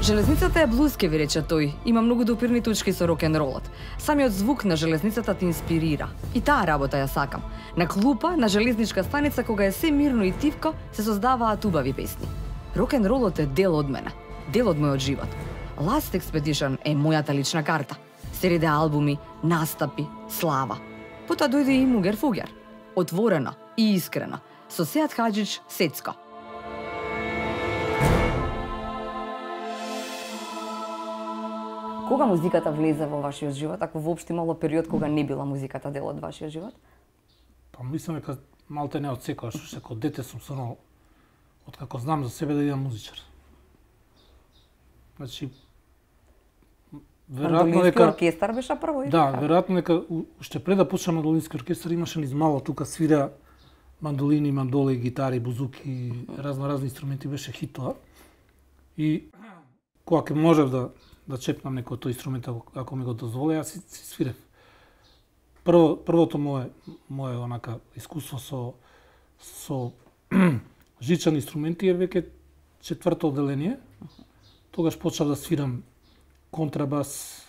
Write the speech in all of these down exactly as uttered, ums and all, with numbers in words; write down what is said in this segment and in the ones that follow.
Железницата е блузке, ви рече тој. Има многу допирни точки со рок-н-ролот. Самиот звук на железницата те инспирира. И таа работа ја сакам. На клупа, на железничка станица, кога е се мирно и тивко, се создаваат убави песни. Рок-н-ролот е дел од мене, дел од мојот живот. Last Expedition е мојата лична карта. Сериде албуми, настапи, слава. Потоа дојде и Мугер Фугер. Отворено и искрено. Со Сеат Хаџич Сецко. Кога музиката влезе во вашиот живот, ако воопшто имало период кога не била музиката дел од вашиот живот? Па мислам дека малте не од секојаш, уште како дете сум сонал откако знам за себе да идам музичар. Значи веројатно дека оркестар беше прво и да, веројатно дека уште пред да почнам мандолински оркестар имаше низ мало тука свира мандолини, мандоли, гитари, бузуки, разно разни инструменти, беше хит тоа. И кога ќе можев да да чепнам некој тој инструмент ако ми го дозволи, јас си, си свирев. Прво првото мое мое онака искуство со со жичани инструменти е веќе четврто одделение. Тогаш почнав да свирам контрабас,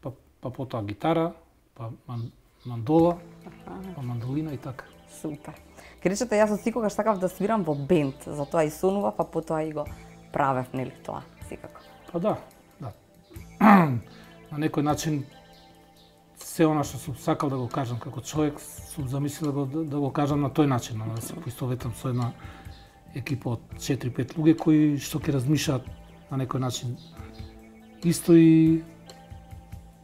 па па потоа гитара, па ман, мандола, па мандолина и така. Супер. Ке речете, јас од секогаш сакав да свирам во бенд, затоа и сонував, па потоа и го правев, нели тоа, секако. Па да, да. На некој начин се она што сум сакал да го кажам како човек, сум замислил да го, да го кажам на тој начин, да се поистоветам со една екипа од четири-пет луѓе кои што ќе размишаат на некој начин исто и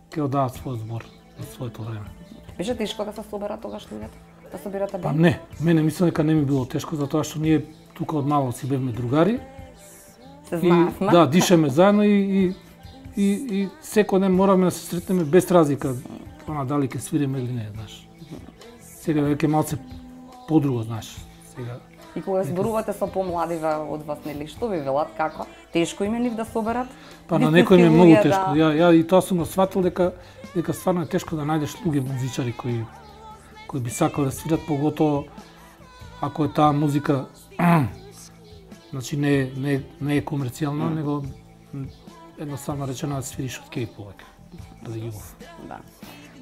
ќе одават својот збор за своето време. Беше тешко да се соберат тогаш луѓето? Да соберате бенд? Па не, мене мислам дека не ми било тешко затоа што ние тука од мало си бевме другари. Се знаевме. Да, дишеме заедно и и и, и секој ден моравме да се сретнеме без разлика она дали ќе свириме или не, знаеш. Сега веќе малце подруго, знаеш. Сега и кога зборувате со помладиве од вас, нели, што ви велат, како? Тешко им е нив да соберат? Па на некој ми е многу тешко. Ја ја и тоа сум го сфатил дека дека стварно е тешко да најдеш луѓе музичари кои кои би сакале да свират, поготово ако е таа музика значи не не не е комерцијална, mm. него едноставно речено да свириш од кеј повеќе. Да љубов. Да.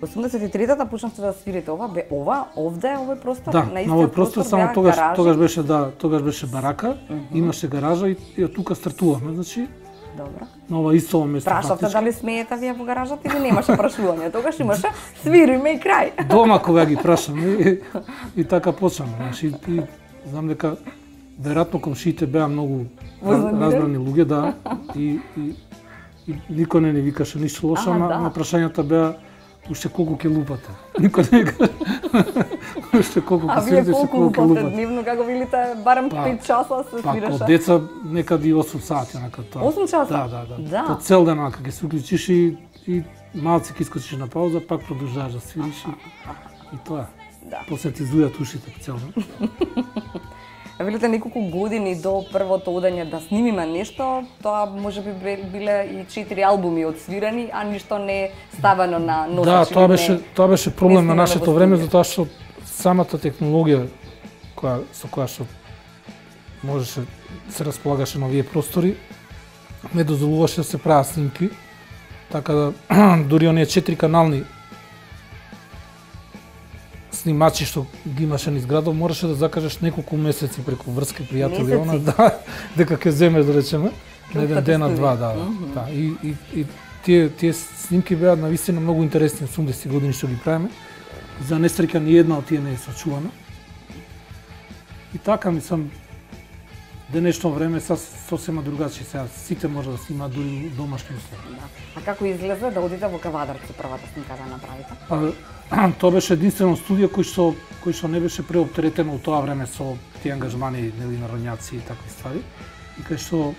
Во осумдесет и третата почнавте да свирите ова, бе ова, овде е овој простор, да, на истиот простор, простор, само тогаш гаражи. тогаш беше да, тогаш беше барака, mm -hmm. имаше гаража и, и од тука стартувавме, значи. Добро. На ова исто место. Прашавте дали смеете вие во гаражата или немаше прашување? Тогаш имаше свириме и крај. Дома кога ги прашаме и, и така почнаме, значи и знам дека веројатно комшиите беа многу разбрани луѓе, да, и и и никој не ни викаше ништо лошо, ама да. На прашањата беа уште колку ќе лупате. Никој не каже. Уште колку ќе свирите, уште колку ќе лупате. Дневно како велите барем па, пет часа се па, свираше. Па, деца некади осум сати онака тоа. осум часа? Да, да, да. да. По цел ден онака ќе се уклучиш и и малце ќе искочиш на пауза, пак продолжаваш да свириш и, и тоа. Да. После ти зујат ушите по цел ден. Велите неколку години до првото одење да снимиме нешто, тоа можеби биле и четири албуми отсвирени, а ништо не е ставено на носач. Да, тоа беше не, тоа беше проблем на нашето време, затоа што самата технологија која со која што можеше се располагаше на овие простори не дозволуваше да се прават снимки, така да дури оние четири канални снимачи што ги имаше низ градот, мораше да закажеш неколку месеци преку врски пријатели, она да дека ќе земеш да речеме на еден ден, на два, да, да. Mm -hmm. Да. И и и тие тие снимки беа навистина многу интересни, осумдесети години што ги правиме. За несреќа ни една од тие не е сочувана. И така мислам денешно време са сосема другачи, сега сите може да снимаат дури домашни услови. Да. А како изгледа да одите во Кавадарци првата снимка да направите? Па, тоа беше единствено студио кој што кој што не беше преоптеретено од тоа време со тие ангажмани, нели, на роњаци и такви ствари. И кај што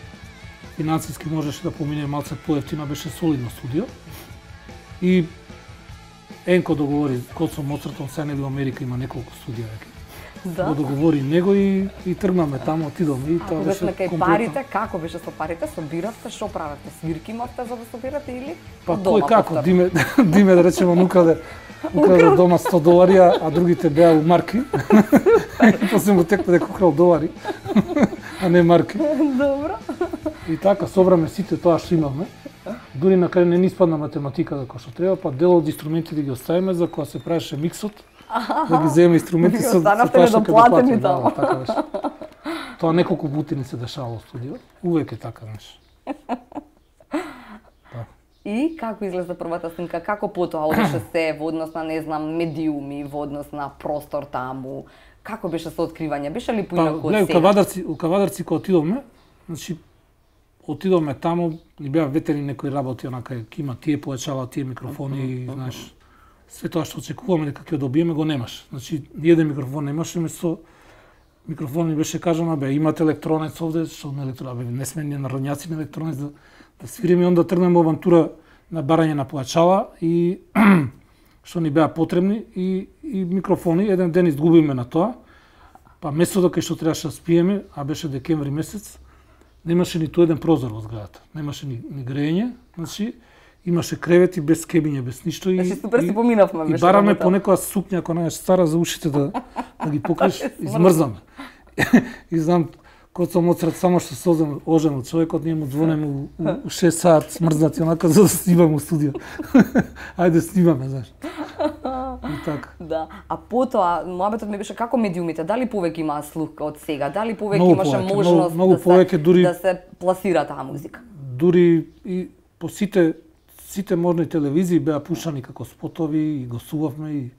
финансиски можеше да помине малце поевтино, беше солидно студио. И Енко договори код со Моцартон, сега нели во Америка има неколку студија веќе. Да. Го договори него и и тргнаме таму, отидоме и тоа беше комплетно. Парите, како беше со парите? Собиравте, што правевте? Свирки имавте за да собирате или па кој како, диме диме да речеме нукаде украде дома сто долари, а другите беа у марки. После му текна дека украл долари. а не марки. Добро. И така собраме сите тоа што имаме. Дури на крај не ни испадна математика како што треба, па дел од инструментите ги оставиме за кога се правеше миксот, да ги земеме инструменти со тоа што ќе доплатени таму. Да, така беше. Тоа неколку пати ни се дешавало во студио. Увек е така, знаеш. И како изгледа првата снимка? Како потоа одеше се во однос на, не знам, медиуми, во однос на простор таму? Како беше со откривање? Беше ли поинаку од сега? сега? У Кавадарци, у Кавадарци кога отидовме, значи отидовме таму, ни беа ветерни некои работи, онака ќе има тие појачала, тие микрофони, uh -huh. знаеш, све тоа што очекуваме дека ќе добиеме го немаш. Значи, ниеден микрофон немаше, место микрофон ни беше кажано, бе, имате електронец овде, што не електронец, бе, не сме ни народњаци на електронец да, да свириме, и онда тргнеме авантура на барање на појачала и што ни беа потребни и, и микрофони. Еден ден изгубиме на тоа, па место кај што требаше да спиеме, а беше декември месец, немаше ниту еден прозор во зградата, немаше ни, ни грејење, значи имаше кревети без кебиње, без ништо и значи супер си поминавме, и бараме понекоја сукња ако не е стара за ушите да да ги покриеш, измрзаме. И знам кога сум оцрет само што се озем ожен човекот, ние му звонеме у, у шест саат смрзнати онака за да снимаме у студио. Ајде снимаме, знаеш. И така. Да. А потоа моабетот ми беше како медиумите, дали повеќе имаа слух од сега, дали повеќе много имаше повеќе, можност много, много да, повеќе, се, дури, да се пласира таа музика? Дури и по сите сите можни телевизии беа пушани како спотови и гостувавме и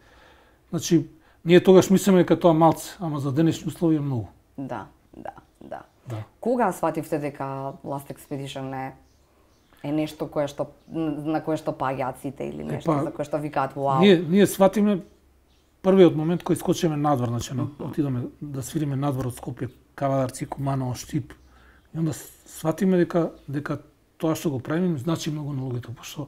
значи ние тогаш мислеме дека тоа малце, ама за денешни услови е многу. Да, да, да. Да. Кога свативте дека Last Expedition е е нешто кое што на кое што паѓаат сите или нешто е, па, за кое што викаат вау? Ние ние сватиме првиот момент кој скочиме надвор, значи отидоме да свириме надвор од Скопје, Кавадарци, Куманово, Штип. И онда сватиме дека дека тоа што го правиме значи многу на луѓето, пошто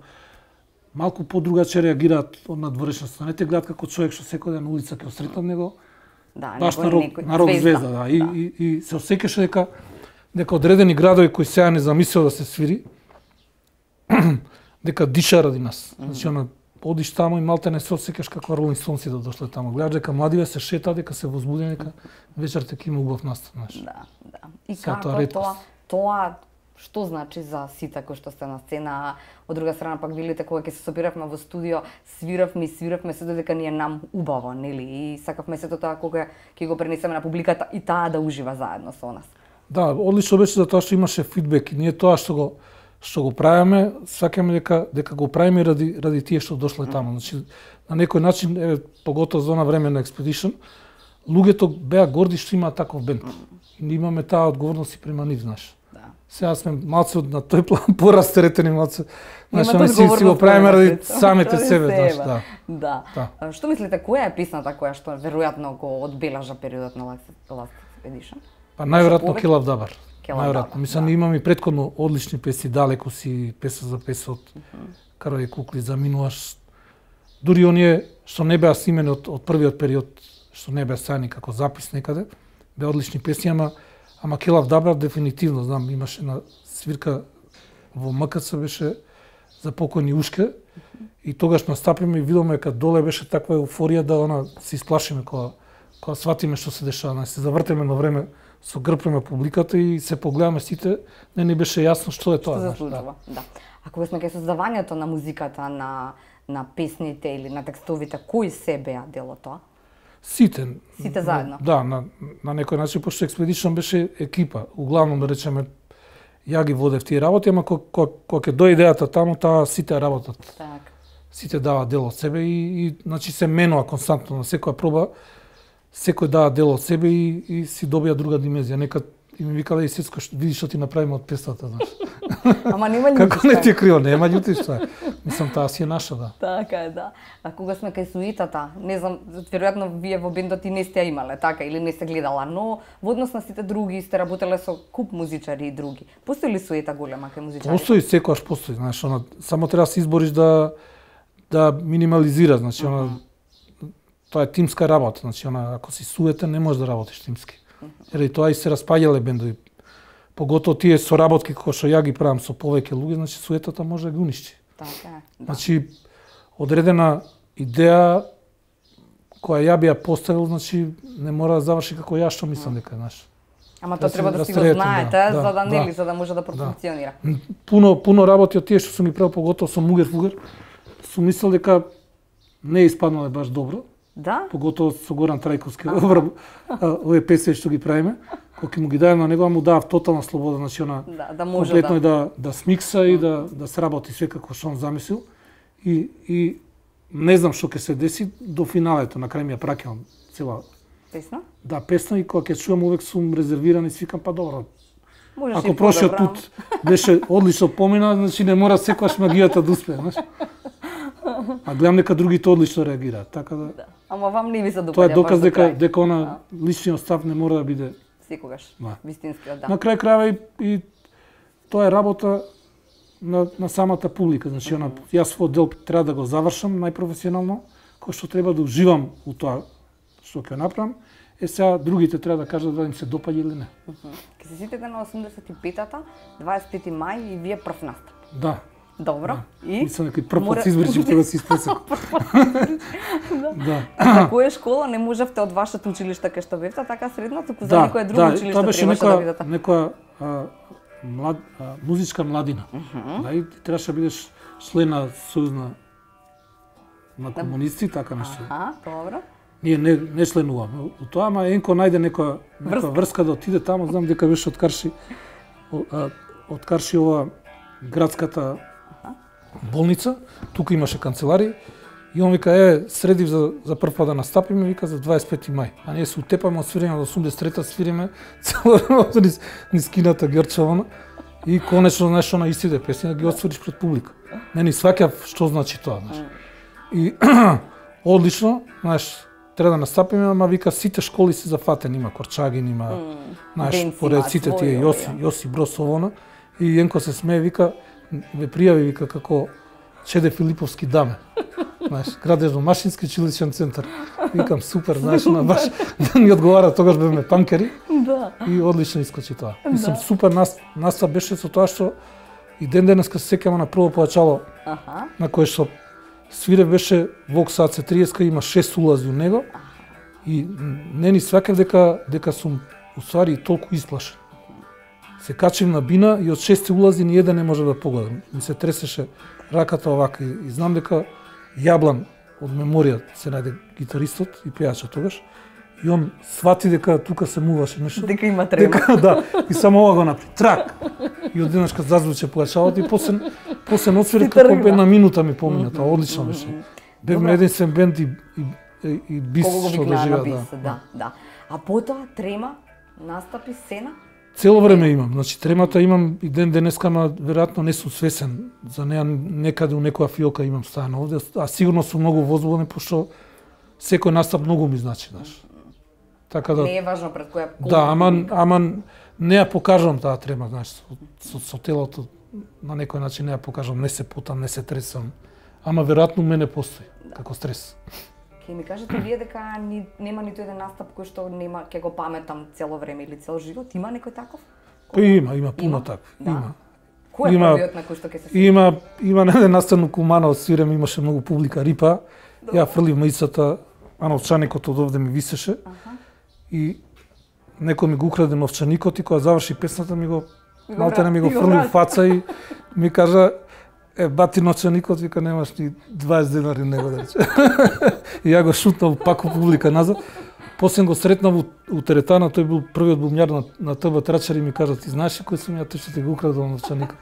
малку подругаче реагираат од надворешноста. Не те гледат како човек што секој ден на улица ќе осретнат него. Да, баш на рок, на рок звезда, звезда, да. И, да. И, и, и се осеќаше дека дека одредени градови кои сега не замислил да се свири, дека диша ради нас. Mm -hmm. Значи, она, одиш таму и малте не се осеќаш како Ролинг Стоунси да дошле таму. Гледаш дека младиве се шетаат, дека се возбудени, дека вечерта ќе има убав настан, знаеш. Да, да. И сега како тоа, тоа, тоа што значи за сите кои што сте на сцена, од друга страна пак билите кога ќе се собиравме во студио, свиравме и свиравме се додека ни е нам убаво, нели? И сакавме сето тоа кога ќе го пренесеме на публиката и таа да ужива заедно со нас. Да, одлично беше за тоа што имаше фидбек и ние тоа што го што го правиме, сакаме дека дека го правиме ради ради тие што дошле таму. Значи на некој начин е поготово за она време на Expedition, луѓето беа горди што имаат таков бенд. И ние имаме таа одговорност и према нив, знаеш. Сега сме малце на тој план порастеретени малце. Значи, не си, си го правиме ради самите себе, знаеш, да. Да. да. Што мислите, која е песната која што веројатно го одбележа периодот на Last Expedition? Па најверојатно Ke Love Dabar. Најверојатно. Мислам, да. Имаме и претходно одлични песни, Далеко си, Песа за песа од uh -huh. Карој кукли, Заминуваш. Дури оние што не беа снимени од, од првиот период, што не беа стани како запис некаде, беа одлични песни, ама Ама Ke Love Dabar дефинитивно, знам, имаше на свирка во М К Ц беше за покојни Ушке и тогаш настапиме и видоме дека доле беше таква еуфорија да она се исплашиме кога кога сватиме што се дешава, не се завртеме на време со грб према публиката и се погледаме сите, не ни беше јасно што е тоа, знаеш. Да. да. А кога сме кај создавањето на музиката, на на песните или на текстовите, кои се беа дел од тоа? Сите. Сите заедно. Да, на, на некој начин, пошто Expedition беше екипа. Углавном, да речеме, ја ги водев тие работи, ама кога ќе дојде идејата таму, таа сите работат. Так. Сите даваат дел од себе и, и значи се менува константно на секоја проба, секој дава дел од себе и, и си добија друга димензија. Некад и ми викале и Сецко, види што ти направиме од песната, знаеш. Ама нема љути. Како не ти е криво, нема љути што е. Мислам, таа си е наша, да. Така е, да. А кога сме кај суитата, не знам, веројатно вие во бендот и не сте ја имале, така, или не сте гледала, но во однос на сите други сте работеле со куп музичари и други. Постои ли суета голема кај музичари? Постои, секогаш постои, знаеш, она, само треба да се избориш да да минимализира, значи, она, тоа е тимска работа, значи, она, ако си суетен, не можеш да работиш тимски. Еради тоа и се распаѓале бендови. Поготово тие соработки кои што ја ги правам со повеќе луѓе, значи суетата може да ги уништи. Така е. Да. Значи одредена идеја која ја би ја поставил, значи не мора да заврши како ја што мислам дека, знаеш. Ама тоа треба да си го сретам, знаете, да, за да нели, да, за да може да профункционира. Да. Пуно пуно работи од тие што сум ги правил, поготово со Мугер Фугер, сум мислел дека не е испаднале баш добро. Да? Поготово со Горан Трајковски, овие песни што ги правиме, кога му ги дајам на него, му давав тотална слобода, значи она Да, да може комплетно да. да да смикса и да да сработи све како што он замислил. И и не знам што ќе се деси до финалето, на крај ми ја праќам цела Песна? да песна, и кога ќе чувам увек сум резервиран и свикам, па добро. Можеш Ако и прошиот подобро. пат беше одлично помина, значи не мора секогаш магијата да успее, знаеш. А гледам дека другите одлично реагираат, така да. Да. Ама вам не ви се допаѓа. Тоа е доказ баш до дека крај. дека она личниот став не мора да биде. Секогаш. Да. Вистинскиот, да. На крај крајва и, и тоа е работа на на самата публика, значи она јас својот дел треба да го завршам најпрофесионално, кој што треба да уживам у тоа што ќе направам. Е, сега другите треба да кажат да им се допаѓа или не. Ке се сетите на осумдесет и петата, дваесет и пети мај и вие прв настап. Да. Добро. И Мислам дека и прв Мора- пат се избричив тоа да се испресек. Да. за која школа не можевте од вашето училиште кај што бевте, така средно, туку за некое друго да, училиште тоа беше требаше да некоја, бидете. некоја а, млад, а, музичка младина. Да, и ти требаше да бидеш член на Сојузна на комунисти, така нешто. А, добро. Ние не, не членуваме у тоа, ама Енко најде некоја, некоја врска да отиде таму, знам дека беше од Карши, о- а, од Карши ова градската болница, тука имаше канцеларија, и он вика, е, средив за, за прв пат да настапиме, вика, за дваесет и пети мај. А ние се утепаме од свирење од осумдесет и трета, свириме цело време низ, низ кината Герчована, и конечно, знаеш, она истите песни, да ги отсвириш пред публика. Не ни сваќав што значи тоа, знаеш. И одлично, знаеш, треба да настапиме, ама вика сите школи се зафатени, има Корчагин, има, знаеш, Денци поред имаат сите свој, тие ова, Јоси, Јоси Бросовона, и Енко се смее, вика, ме пријави, вика, како Чеде Филиповски даме. Знаеш, градежно-машински училишен центар. Викам, супер, знаеш, на баш да ни одговара, тогаш бевме панкери, Да. и одлично искочи тоа. Мислам, супер нас, настап беше со тоа што и ден денеска се сеќавам на прво појачало, Аха. на кое што свире беше Vox А Ц триесет, има шест улази у него, и не ни сваќав дека дека сум уствари толку исплашен. Се качим на бина и од шест улази ни еден не може да погодам. Ми се тресеше раката овака, и, и знам дека Јаблан од меморија се најде гитаристот и пејачот тогаш, и он свати дека тука се муваше нешто. Дека има трема. Дека, да, и само ова го направи.Трак! И одеднашка зазвуче појачалот, и после, после ноцвирет Си како тргна. една минута ми помина, тоа одлично беше. Бевме единствен бенд и, и, и, и бис Кого го што викнаа на доживеа. бис, да, да. А потоа трема, настапи, сцена, Цело време имам, значи тремата имам и ден денеска, ама веројатно не сум свесен за неа, некаде у некоја фиока имам стана овде, а сигурно сум многу возбуден, пошто секој настап многу ми значи, знаеш. Така да, не е важно пред која колку да, ама, публика. ама не ја покажувам таа трема, знаеш, со, со, со телото на некој начин не ја покажувам, не се потам, не се тресам, ама веројатно у мене постои како стрес. Ке ми кажете вие дека ни, нема ниту еден настап кој што нема, ќе го паметам цело време или цел живот, има некој таков? Па има, има пуно Има? такви, Да. има. Кој е Има- првиот на кој што ќе се сети? Има има на еден настан у Кумана од свирем, имаше многу публика Рипа. Ја фрлив маицата, а новчаникот од овде ми висеше. Аха. И некој ми го украде новчаникот, и кога заврши песната ми го Ми го малтene ми го врати, го фрли у врати. фаца и ми кажа, е, бати новчаникот, вика, немаш ни дваесет денари него да рече. И ја го шутнав пак у публика назад. После го сретнав у, у теретана, тој бил првиот бумјар на, на ТБ Трачар, и ми кажа, ти знаеш ли кој сум ја, тој што ти го украдал новчаникот?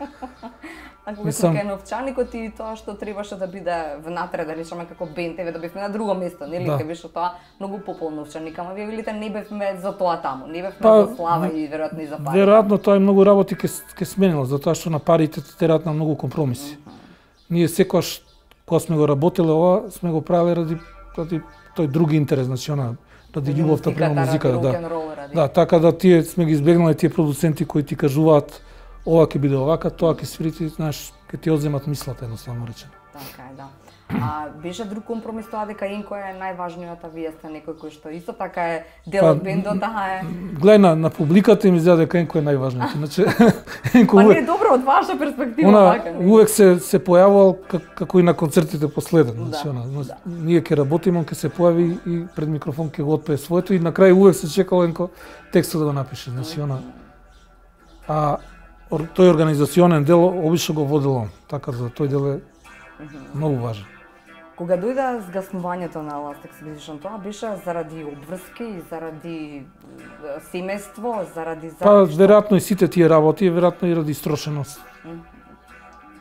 А кога Мислам- сум кај новчаникот и тоа што требаше да биде внатре, да речеме како бенд, еве да бевме на друго место, нели? Да. Ке беше тоа многу пополно новчаник, ама вие велите не бевме за тоа таму, не бевме Па, за слава и веројатно и за пари. Веројатно тоа и многу работи ке, ке сменило, затоа што на парите те терат на многу компромиси. Ние секогаш, кога сме го работеле ова, сме го правеле ради, ради тој други интерес, значи она, ради љубовта према музиката, да. рок-н-рол ради. Да, така да тие сме ги избегнале тие продуценти кои ти кажуваат ова ќе биде овака, тоа ќе свирите, знаеш, ќе ти одземат мислата, едноставно речено. Така е, да. А беше друг компромис тоа дека Енко е најважниот, а вие сте некој кој што исто така е дел од бендот, таа е. Гледај на, на публиката им изгледа дека Енко е најважниот. Иначе Енко Па не е добро од ваша перспектива она, така. Увек се се појавувал как, како и на концертите последен. Значи, Да, она, да. ние ќе работиме, он ќе се појави и пред микрофон ќе го отпее своето и на крај увек се чекал Енко текстот да го напише. Значи, она, а ор- тој организационен дел обично го водел он, така за тој дел е многу важен. Кога дојде згаснувањето на Last Expedition, тоа беше заради обврски, заради е, семејство, заради Па заради веројатно и сите тие работи, веројатно и ради истрошеност.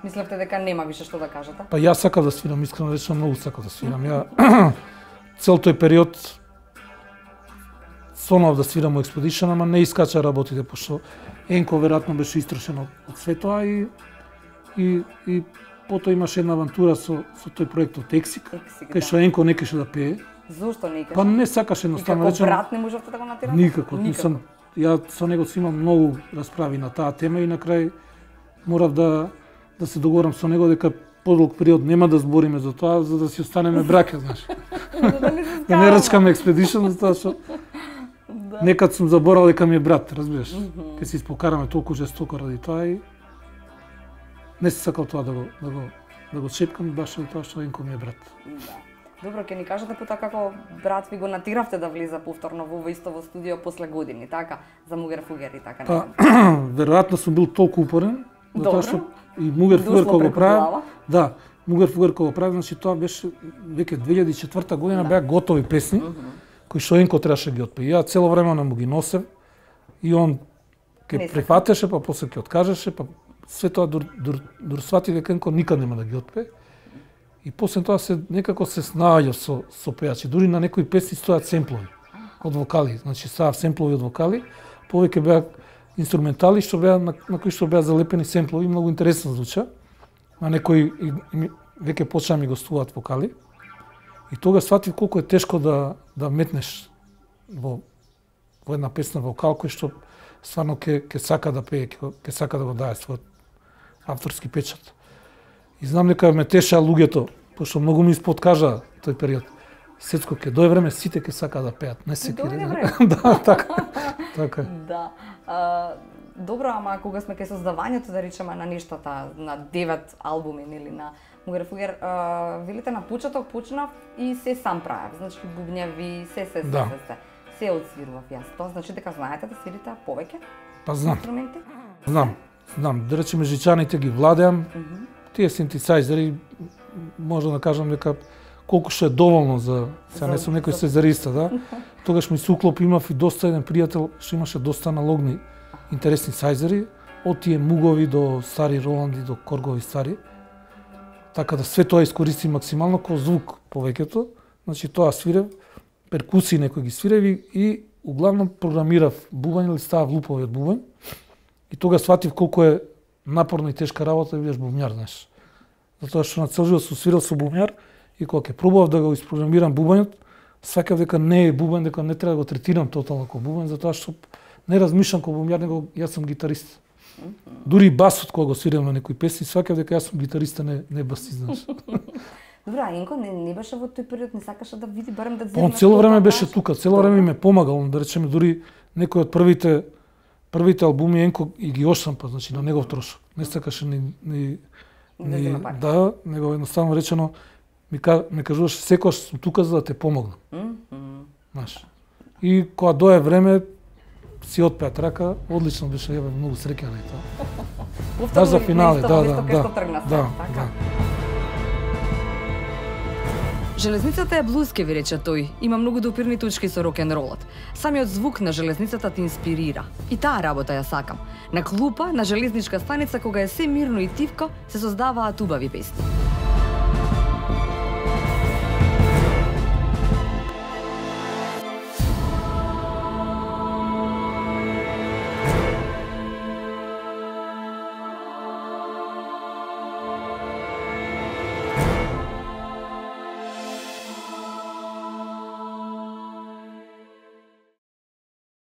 Мислевте дека нема више што да кажете? Па јас сакав да свирам, искрено речено многу сакав да свирам. Ја цел тој период сонав да свирам во Expedition, ама не искача работите, пошто Енко веројатно беше истрошен од, од све тоа и и и потоа имаше една авантура со со тој проектот Ексик, Ексик, кај да. што Енко не кеше да пее. Зошто не Па не сакаше едноставно Никако речено. брат не можевте да го натирате? Никако, мислам, ја со него си имам многу расправи на таа тема и на крај морав да да се договорам со него дека подолг период нема да збориме за тоа, за да си останеме браќа, знаеш. Да не се Да не рачкаме експедишн, затоа што некад сум заборал дека ми е брат, разбираш. Ке се испокараме толку жестоко ради тоа и не се сакал тоа да го да го да го чепкам баш за тоа што Енко ми е брат. Да. Добро, ќе ни кажете потоа како брат ви го натиравте да влиза повторно во ово исто во студио после години, така? За Мугер Фугер и така. Па, не? веројатно сум бил толку упорен, Добро. затоа што и Мугер Дошло Фугер кога го преку прави, глава. да, Мугер Фугер кога го прави, значи тоа беше веќе две илјади и четврта година, беа готови песни кои што Енко требаше да ги отпее. Ја цело време на му ги носев и он Не ќе се прифатеше, па после ќе откажеше, па све тоа дур, дур, дур свати дека Енко никад нема да ги отпее. И после тоа се некако се снаоѓа со со пејачи. Дури на некои песни стојат семплови од вокали, значи ставав семплови од вокали, повеќе беа инструментали што беа на, на кои што беа залепени семплови, многу интересно звуча. На некои и, и, веќе почна ми гостуваат вокали. И тога сватив колку е тешко да да метнеш во во една песна вокал кој што стварно ќе ќе сака да пее, ќе ќе сака да го даде својот авторски печат. И знам дека ме теша луѓето, пошто многу ми исподкажа тој период. Сецко, ќе дое време сите ќе сака да пеат, не секи. Дојде Да, време. да, така. Така. е. Да. А, добро, ама кога сме кај создавањето, да речеме, на нештата, на девет албуми, нели, на Мугер Фугер, а, велите на почеток почнав и се сам правев, значи бубњеви, се, се, се, Да. се, се, се одсвирував јас. Тоа значи дека знаете да свирите повеќе Па знам, инструменти? знам, знам. Да речеме жичаните ги владеам. Тие синтесајзери, може да кажам дека колку што е доволно за... Сега не За- сум некој за- сезариста, да? Тогаш ми се уклоп, имав и доста еден пријател што имаше доста аналогни интересни сајзери, од тие мугови до стари Роланди, до коргови стари. Така да све тоа искористи максимално како звук повеќето. Значи тоа свирев, перкусии некои ги свиреви и углавном програмирав бубањ или ставав лупови од бубањ. И тога сватив колку е напорна и тешка работа да бидеш бубњар, знаеш. Затоа што на цел живот сум свирал со бубњар и кога ќе пробував да го испрограмирам бубањот, сваќав дека не е бубањ, дека не треба да го третирам тотално како бубањ, затоа што не размишлам како бубњар, него јас сум гитарист. Дури басот кога го свирам на некои песни, сваќав дека јас сум гитариста, не не басист, знаеш. Добра, Енко не, не беше во тој период, не сакаше да види барем да Он цело време беше тука, цело време ми ме помагал, да речеме дури некои од првите првите албуми Енко и ги ошампа, значи на негов трошок. Не сакаше ни ни Да ни зема пари. да, него едноставно речено ми ка, ме кажуваше секогаш сум тука за да те помогнам, знаеш. И кога дое време си отпеат рака, одлично беше, јаве многу среќен и тоа. Повторно за на финале, исто да, место да, кај да. што тргна се, Да, така? да. Железницата е блуз, ке ви рече тој. Има многу допирни точки со рок-н-ролот. Самиот звук на железницата те инспирира. И таа работа ја сакам. На клупа, на железничка станица, кога е се мирно и тивко, се создаваат убави песни.